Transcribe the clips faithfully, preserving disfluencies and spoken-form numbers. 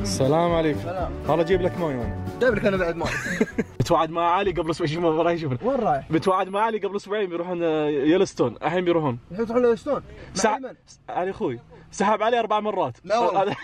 السلام عليكم. سلام. والله جيب لك مويه انا. جايب لك انا بعد مويه. بتوعد مع علي قبل اسبوعين ما راح يشوفنا. وين رايح؟ بتوعد مع علي قبل اسبوعين بيروحون يلستون، الحين بيروحون. يروحون يلستون؟ سع... علي اخوي سحب علي اربع مرات. لا والله.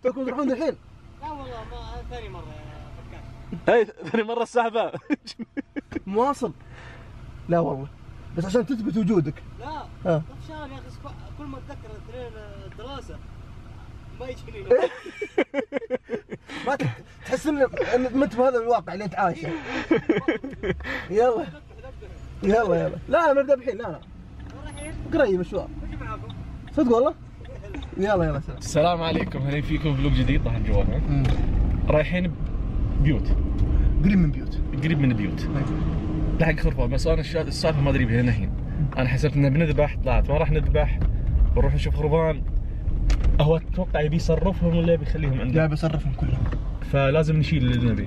تكون تروحون الحين؟ لا والله ما ثاني مرة يا فكان. اي ثاني مرة السحبة. مواصل. لا والله. بس عشان تثبت وجودك. لا. ها. طفشان يا اخي كل ما اتذكر اثنين دراسة ما يجيني. ما تحس ان ما انت بهذا الواقع اللي انت عايشه. يلا. يلا يلا. لا نبدا الحين لا لا. قريب مشوار. معاكم. صدق والله؟ يلا يلا سلام. السلام عليكم، اهلا فيكم فلوق جديد طبعا جوالنا. رايحين بيوت. قريب من بيوت. قريب من بيوت. لحق خرفان بس انا السالفه ما ادري بها الحين. انا حسبت انه بنذبح طلعت ما راح نذبح، بنروح نشوف خرفان. هو اتوقع يبي يصرفهم ولا يبي يخليهم عنده؟ لا بيصرفهم كلهم. فلازم نشيل اللي نبي.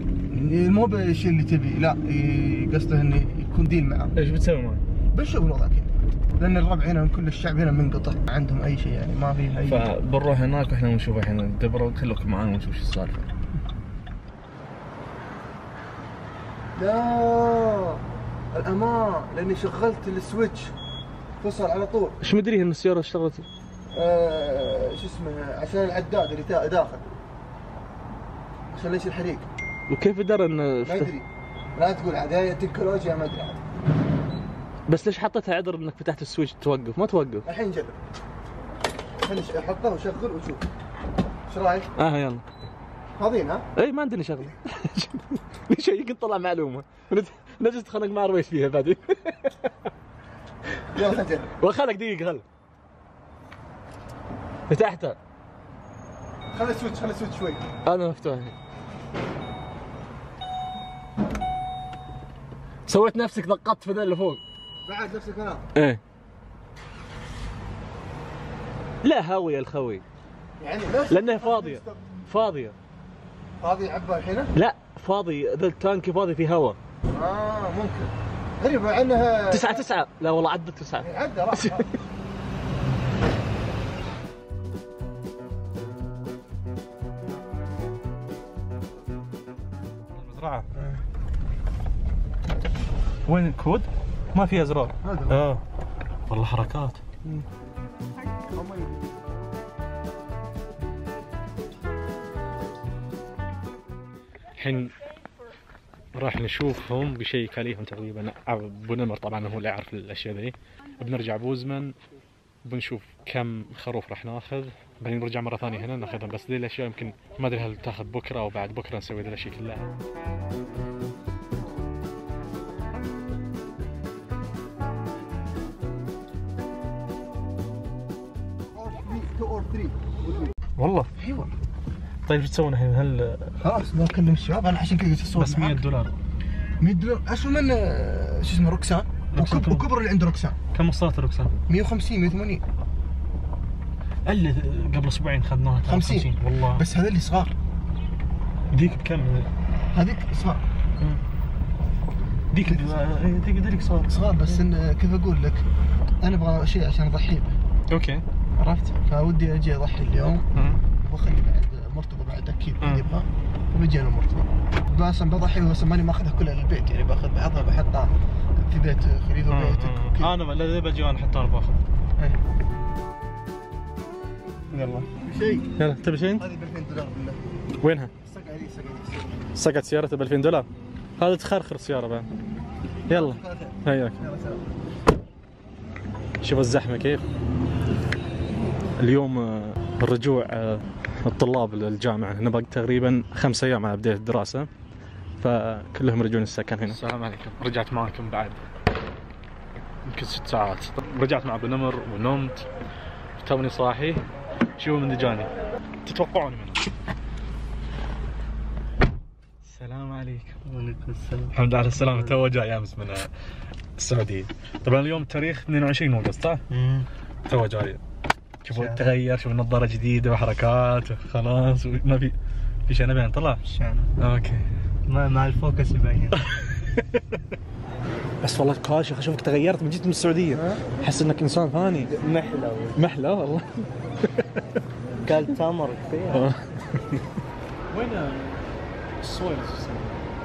مو بالشيء اللي تبي، لا قصده انه يكون ديل معاه. ايش بتسوي معه؟ بنشوف الوضع كذا. لان الربع هنا كل الشعب هنا منقطع، ما عندهم اي شيء يعني ما في اي. فبنروح هناك واحنا نشوف الحين ندبر، خلوكم معانا ونشوف ايش السالفه. لا الامان لاني شغلت السويتش فصل على طول. ايش مدري ان السياره اشتغلت؟ آه شو اسمه عشان العداد اللي داخل عشان ليش الحريق. وكيف درى انه ما ادري، لا تقول عاد هي تكنولوجيا ما ادري عاد. بس ليش حطيتها عذر انك فتحت السويتش توقف؟ ما توقف. الحين نجرب. خليني احطه وشغل وشوف. ايش رايك؟ اه يلا. فاضيين ها؟ اي ما عندنا شغله. ليش يمكن طلع معلومه نجي نتخانق مع رويس فيها بعدين. يلا خلينا نجرب. وخلك دقيقه خل فتحتها. خلي السويتش خلي السويتش شوي. انا مفتوح. سويت نفسك ضغطت في ذا اللي فوق. بعد نفس الكلام. ايه. لا هاوية الخوي. يعني لانها فاضية. فاضية. فاضي عبها الحين؟ لا فاضي، ذا التانكي فاضي في هواء. اه ممكن. غريب مع انها تسعة تسعة، لا والله عدت تسعة. عدى راح. المزرعة. وين الكود؟ ما فيها ازرار. اه والله حركات. الحين راح نشوفهم بشيك عليهم تقريبا. ابو نمر طبعا هو اللي يعرف الاشياء ذي. بنرجع بوزمن بنشوف كم خروف راح ناخذ، بعدين نرجع مره ثانيه هنا ناخذهم. بس ذي الاشياء يمكن ما ادري هل تاخذ بكره او بعد بكره نسوي ذي الاشياء كلها. والله؟ اي والله. طيب ايش تسوون الحين؟ هل خلاص بكلم الشباب انا عشان كذا جيت الصور. بس مية دولار. مية دولار اسوء من شو اسمه روكسان وكب... وكبر اللي عنده روكسان. كم وصلت روكسان؟ مية وخمسين مية وثمانين. اللي قبل اسبوعين خذناها خمسين والله. بس هذول اللي صغار. ذيك بكم؟ هذيك صغار. ذيك ذيك ذيك صغار صغار بس إن كيف اقول لك انا ابغى شيء عشان اضحي به. اوكي عرفت؟ فودي اجي اضحي اليوم واخلي بعد مرتبه بعد اكيد يبغى وبيجي انا مرتبه. بس بضحي بس ماني ماخذها كلها للبيت يعني باخذ بعضها بحطها في بيت خليفه بيتك وكذا. انا لا بجي انا حتى انا باخذ. يلا شيء. يلا تبي شيء؟ هذه ب ألفين دولار بالله. وينها؟ الصقعه دي الصقعه دي. صقعت سيارته ب ألفين دولار؟ هذا تخرخر السياره بعد. يلا هياك. يلا سلام. شوف الزحمه كيف. اليوم الرجوع الطلاب للجامعه، نبغى تقريبا خمس ايام على بدايه الدراسه، فكلهم يرجعون السكن هنا. السلام عليكم، رجعت معكم بعد يمكن ست ساعات. رجعت مع ابو نمر ونمت توني صاحي. شوفوا من دجاني تتوقعون منه. السلام عليكم. وعليكم السلام. الحمد لله على السلامة. تو جاي امس من السعودية. طبعا اليوم تاريخ اثنين وعشرين اوغست صح؟ امم تو جاي. شوفوا تغير، شوفوا نظارة جديدة وحركات خلاص ما في في شيء نبين طلع؟ شنو؟ اوكي. ما مع الفوكس يبين. بس والله كاشخ اشوفك تغيرت من جيت من السعودية. احس انك انسان ثاني. محلى محلى والله. قال تمر كثير. وين السويل؟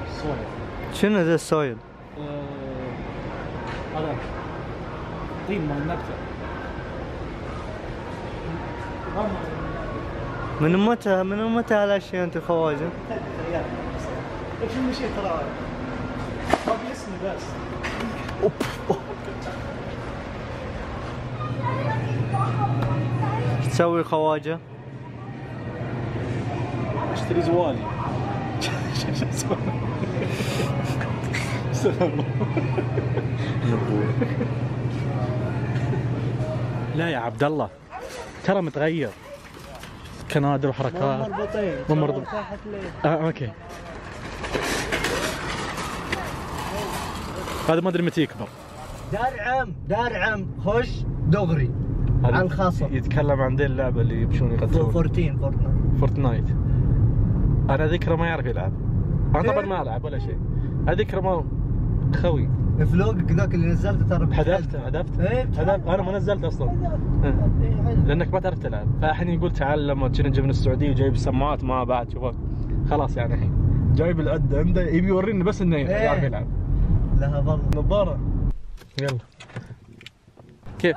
السويل شنو ذا السويل؟ هذا طين مال النبتة. من متى من متى هالاشياء انت خواجه؟ ايش المشي ترى؟ ما في اسمي بس. ايش تسوي خواجه؟ اشتري زوالي. لا يا عبد الله ترى متغير كنادر وحركات. مربوطين. مو مربوط. اه اوكي. هذا ما ادري متى يكبر. دار عم دار عم خش دغري على الخاصة. يتكلم عن ذي اللعبة اللي يمشون يقتلون. فورتين فورتنايت. فورتنايت. انا ذكره ما يعرف يلعب. انا طبعا ما العب ولا شيء. اذكره ما خوي. فلوقك ذاك اللي نزلته ترى هدفته هدفت ايه هدفت انا ما نزلت اصلا. لانك ما تعرف تلعب، فالحين يقول تعال لما كنا جاي من السعوديه وجايب السماعات ما بعد شوفك خلاص يعني الحين جايب العده عنده يبي يوريني بس انه يعرف يلعب. لها ظل نظاره. يلا كيف؟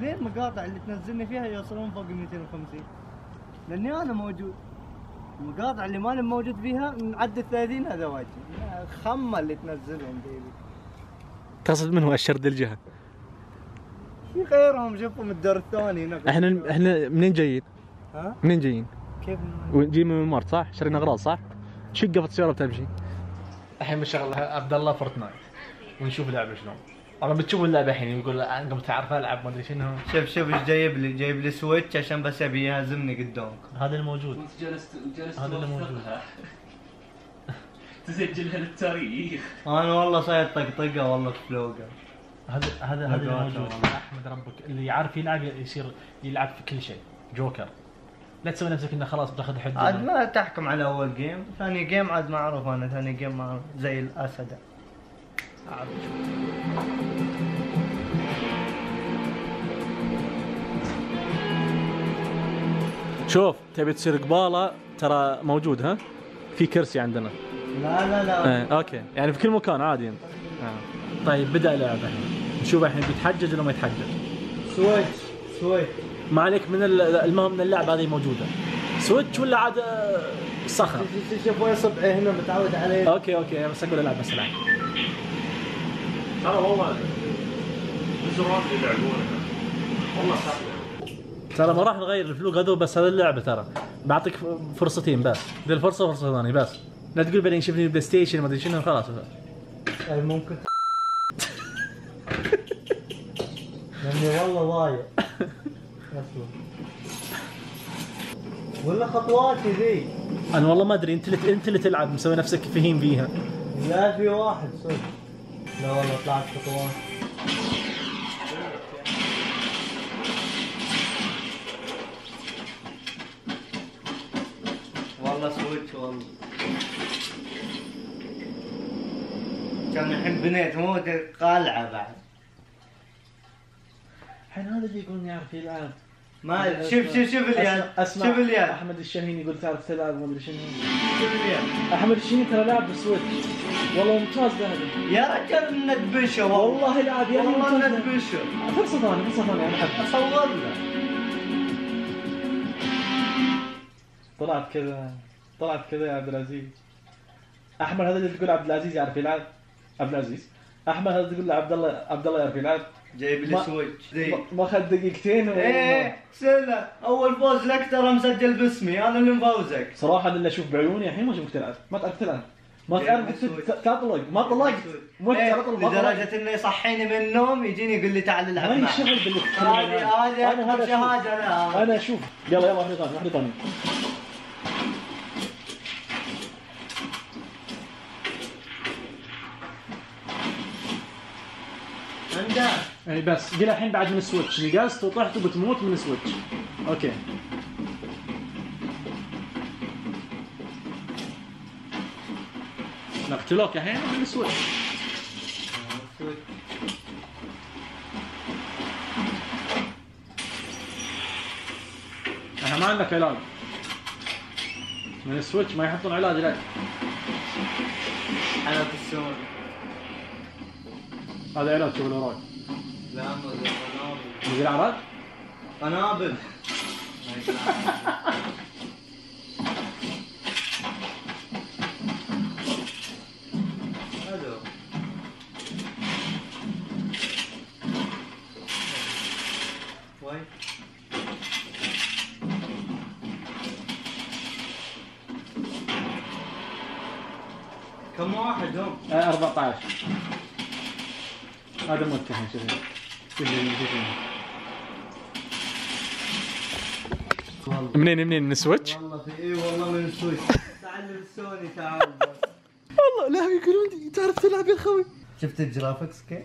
ليه المقاطع اللي تنزلني فيها يوصلون فوق مئتين وخمسين؟ لاني انا موجود. المقاطع اللي ماني موجود فيها نعدي ثلاثين هذا واجب. خمه اللي تنزلهم ديلي. تقصد من هو الشرد الجهه؟ في غيرهم شوفهم الدور الثاني هناك. احنا احنا منين جايين؟ ها؟ منين جايين؟ كيف؟ جايين من الممر صح؟ شرينا اغراض صح؟ شقفت السياره بتمشي. الحين بنشغل عبد الله فورتنايت ونشوف اللعبه شلون. انا بتشوف اللعبه الحين يقول انا قمت اعرف العب ما ادري شنو. شوف شوف ايش جايب لي، جايب لي سويتش عشان بس ابي يهزمني قدامك. هذا الموجود. وانت جلست جلست هذا اللي موجود. تسجلها للتاريخ. انا والله صاير طقطقه والله فلوقه. هذا هذا هذا الموجود. احمد ربك اللي يعرف يلعب يصير يلعب في كل شيء. جوكر. لا تسوي نفسك انه خلاص بتاخذ حد. عاد ما تحكم على اول جيم، ثاني جيم عاد ما اعرف انا، ثاني جيم ما أعرف. زي الاسد. أعرف. شوف تبي تصير قباله ترى موجود ها؟ في كرسي عندنا. لا لا لا. ايه اوكي يعني في كل مكان عادي انت. آه. طيب بدا اللعبه الحين. نشوف الحين بيتحجج ولا ما يتحجج. سويتش سويتش. ما عليك من المهم من اللعبه هذه موجوده. سويتش ولا عاد صخر؟ شوف وين صبعي هنا متعود عليه. اوكي اوكي بس اقول العب بس العب. ترى والله الزرار اللي يلعبونها والله سهله. ترى ما راح نغير الفلوق هذول بس هذه اللعبه ترى بعطيك فرصتين بس. ذي الفرصه وفرصه ثانيه بس. لا تقول بعدين شوفني بلاي ستيشن ما ادري شنو خلاص. اي ممكن. لاني والله ضايع. ولا خطواتي ذي. انا والله ما ادري انت اللي انت اللي تلعب مسوي نفسك فهيم فيها. لا في واحد صدق. لا والله طلعت خطوات. والله سويتش والله. كان الحين بنيت مو قالعه بعد. الحين هذا اللي يقول يعرف يلعب. ما شوف شوف شوف اليد. شوف اليد. احمد الشاهين يقول تعرف تلعب ما ادري شنو. شوف اليد. احمد الشاهين ترى لاعب بالسويتش. والله ممتاز هذا. يا رجال ندبشه والله لاعب يا والله ندبشه. فرصه ثانيه فرصه ثانيه انا احب. اصور له. طلعت كذا طلعت كذا يا عبد العزيز. احمد هذا اللي تقول عبد العزيز يعرف يلعب. عبد العزيز. احمد هذا تقول له عبد الله عبد الله يعرف يلعب. جايب لي سويتش ذي. ما اخذ دقيقتين و... ايه سنة اول فوز لك ترى مسجل باسمي انا اللي مفوزك. صراحه اللي اشوف بعيوني الحين ما اشوفك تلعب. ما تعرف تلعب. ما تعرف تطلق ما طلقت. مو تعرف تطلق لدرجه انه يصحيني من النوم يجيني يقول لي تعال العب معي. ما يشتغل باللي هذه هذه انا هذا شهاده لا. انا اشوف. يلا يلا واحده ثانيه واحده ثانيه. عنده. اي بس قل الحين بعد من السويتش نقزت وطحت وبتموت من السويتش. اوكي. نقتلوك الحين من السويتش. احنا ما عندك علاج. من السويتش ما يحطون علاج لك. حالات السوني. هذا علاج شغل وراك. لا مو قنابل. مدير عراج؟ قنابل. الو. وين؟ كم واحد هم؟ أربعة عشر. هذا متهم شوف. منين منين من السويتش؟ والله في اي والله من السويتش. تعلم السوني تعال بس. والله لا يقولون تعرف تلعب يا خوي. شفت الجرافكس كيف؟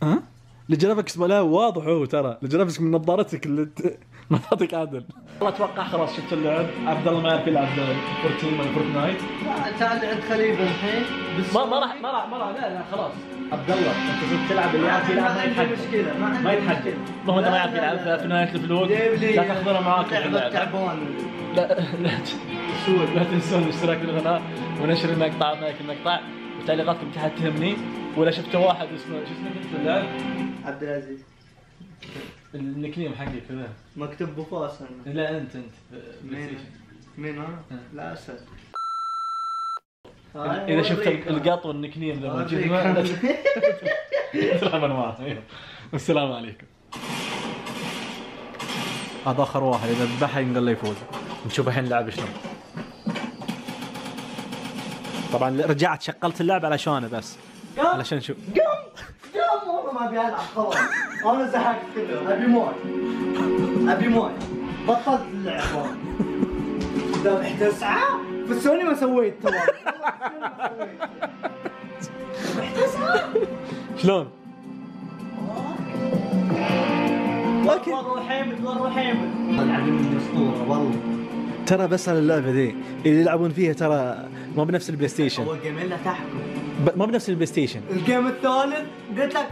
ها؟ الجرافكس لا واضح هو ترى، الجرافكس من نظارتك اللي ما تعطيك عدل. والله اتوقع خلاص شفت اللعب، عبد الله ما يعرف يلعب فورتين ولا فورتنايت. لا تعال عند خليفه الحين. ما ما راح ما راح ما راح لا لا خلاص. عبد الله انت صرت تلعب اللي يعرف يلعب ما يتحدى. مشكله ما ما يتحدى. ما هو انت ما يعرف يلعب في نهايه الفلوس لا تاخذونه معاك في اللعب. تعبان. لا لا لا تنسون الاشتراك في القناه ونشر المقطع معك المقطع وتعليقاتكم تحت تهمني. ولا شفت واحد اسمه شو اسمه في اللعب؟ عبد العزيز. النكنيم حقي كذا مكتوب بوفاس انا. لا انت انت مين؟ مين انا؟ لا اسد. اذا شفت القط والنكنيم ذا موجود تلعب انا معه. والسلام عليكم. هذا اخر واحد اذا ذبحها ينقل له يفوز. نشوف الحين اللعب شلون. طبعا رجعت شغلت اللعب علشانه بس علشان شو قم قم والله ما ابي العب خلاص. انا زهقت كله ابي مويه ابي مويه بطلت اللعب. ذبحت تسعة في السوني ما سويت ترى. ذبحت تسعة شلون؟ اوكي والله حامد والله حامد. العبين اسطوره والله. ترى بس على اللعبه ذي اللي يلعبون فيها ترى ما بنفس البلاي ستيشن. هو جيمين لا تحكم. ما بنفس البلاي ستيشن. الجيم الثالث قلت لك